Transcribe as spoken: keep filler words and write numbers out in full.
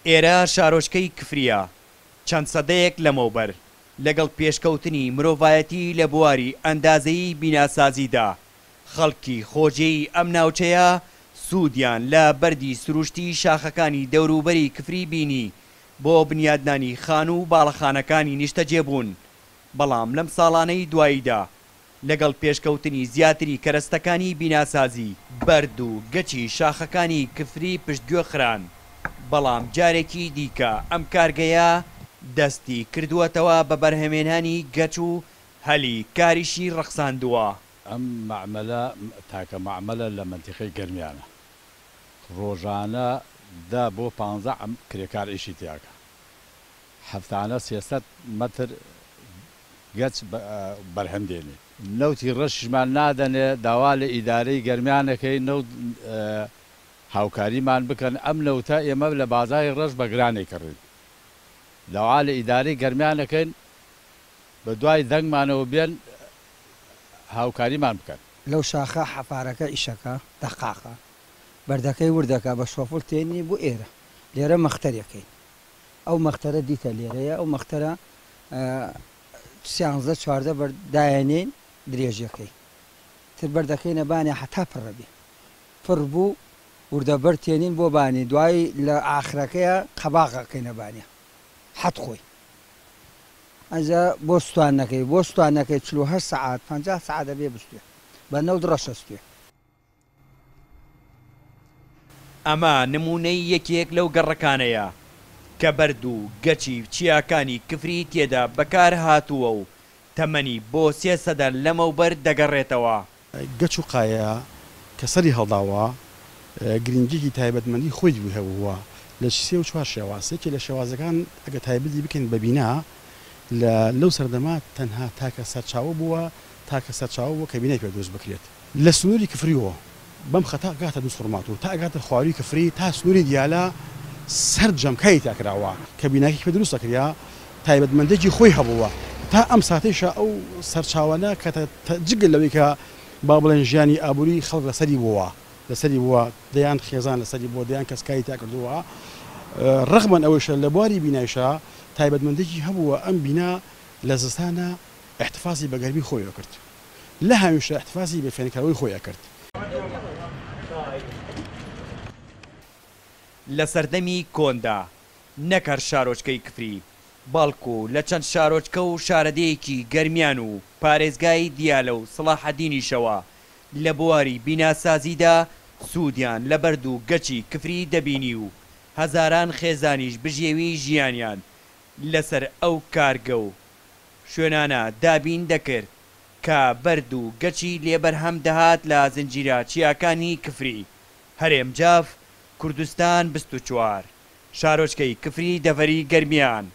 ئێرە شارۆچکەی کفرییە، چەند سەدەیەک لەمەوبەر لەگەڵ پێشکەوتنی مرۆڤایەتی لە بواری ئەندازەیی بیناسازیدا، خەڵکی خۆجێی ئەم ناوچەیە سوودیان لە بەردی سروشتی شاخەکانی دەوروبەری کفری بینی بۆ بنیادنانی خانوو و باڵەخانەکانی نیشتەجێبوون، بەڵام لەم ساڵانەی دواییدا لەگەڵ پێشکەوتنی زیاتری کەرەستەکانی بیناسازی، بەرد و گەچی شاخەکانی کفری پشتگوێ خران، بەڵام جارێکی دیکە ئەم کارگەیە دەستی کردووەتەوە بە بەرهەمێنانی گەچ و هەلی کاریشی ڕەخساندووە. ئەم مەعمەلە تاکە مەعمەلە لە مەنتیقەی گەرمیانە، ڕۆژانە دە بۆ پانزە کرێکار ئیشی تیاکە، هەفتانە سێ سەد مەتر گەچ بەرهەم دێنێ. نەوتی ڕەشیشمان نادەنێ، داوا لە ئیدارەی گەرمیانەکەی نەوت هاوکاریمان بکەن، ئەم نەوتە ئێمە لە بازاڕی ڕەش بە گرانێ کڕین، داوا لە ئیدارەی گەرمیانەکەین بە دوای دەنگمانەوە بێن هاوکاریمان بکەن. لەو شاخە حەفارەکە ئیشەکە دەقاقە بەردەکەی وردەکە بە شۆفڵ تێنی بۆ ئێرە، لێرە مەختەرەکەین، ئەو مەختەرە دیتە لێرەیە، ئەو مەختەرە سیانزە چواردە بەردایەنین درێژەکەی تر بەردەکەینە بانێ حتا پڕە بێ، پڕ بوو وردە بەر تێنین بۆ بانی، دوایی لە ئاخرەکەیە قەباغەکەینە بانێ حەت خۆی ئەجا بۆ سوستانەکەی بۆ سوستانەکەی چل و هەشت سەعات پەنجا سەعات دەبێ بستوێ بە نەوت ڕەشەستوێ. ئەمە نمونەی یەکێک لەو گەڕەکانەیە کە بەرد و گەچی چیاکانی کفری تێدا بەکار هاتووە و تەمەنی بۆ سێ سەدە لەمەوبەر دەگەڕێتەوە. گەچ و قایە کە سەری هەڵداوە گرنگیەکی تایبەتمەندی خۆی هەبووە لە سێ و چوار شێواز. یەکێ لە شێوازەکان ئەگە تایبەتی بکەین بە بینا لەو سەردەما تەنها تاکە سەرچاوە بووە، تاکە سەرچاوە بووە کە بینای پێ دروست بکرێت. لە سنووری کفریەوە بەم خەتا گاتە دوو خورمات و تا ئەگاتە خواروی کفری تا سنووری دیالە سەرجەم کاری تاکراوە کە بیناکی پێ دروست دەکریا تایبەتمەندێکی خۆی هەبووە. تا ئەم ساتەیشە ئەو سەرچاوانە کە جگە لەوەی کە با بڵێن ژیانی ئابووری خەڵک لەسەری بووە، لەسەری بووە، دەیان خێزان لەسەری بووە، دەیان کەسکاری تا کردووە، ڕەغمەن ئەوەیشە لە بواری بینایشە تایبەتمەندێکی هەبووە. ئەم بینا لە زستانە احتفاظی بە گەرمی خۆی کرد، لە هاویشە احتفاظی بە فێنکەرەوەی خۆی کرد. لە سەردەمی کۆندا نەک هەر شارۆچکەی کفری، بەڵکو لە چەند شارۆچکە و شارەدێیەکی گەرمیان و پارێزگای دیالە و سەڵاحەدینیشەوە لە بواری بیناسازیدا سوودیان لە بەرد و گەچی کفری دەبینی و هەزاران خێزانیش بژێوی ژیانیان لەسەر ئەو کارگە و شوێنانە دابین دەکرد کە بەرد و گەچی لێبەرهەم دەهات لە زنجیرە چیاکانی کفری. هەرێم جاف، کوردستان بیست و چوار، شارۆچکەی کفری دەڤەری گەرمیان.